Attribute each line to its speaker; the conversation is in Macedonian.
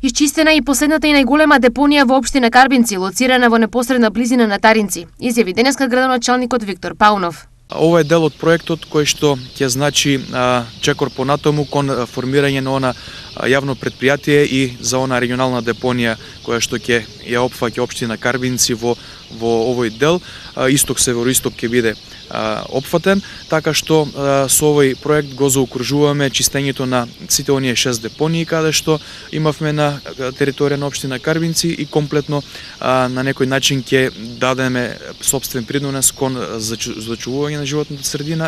Speaker 1: Исчистена и последната и најголема депонија во општина Карбинци, лоцирана во непосредна близина на Таринци, изјави денеска градоначалникот Виктор Паунов.
Speaker 2: Ова е дел од проектот кој што ќе значи чекор понатаму кон формирање на она јавно предпријатие и за она регионална депонија која што ќе ја опфаќа општина Карбинци во овој дел. Исток североисток ќе биде опфатен, така што со овој проект го заокружуваме чистењето на сите оние 6 депонии каде што имавме на територија на општина Карбинци и комплетно на некој начин ќе дадеме сопствен принос кон зачувување на животната средина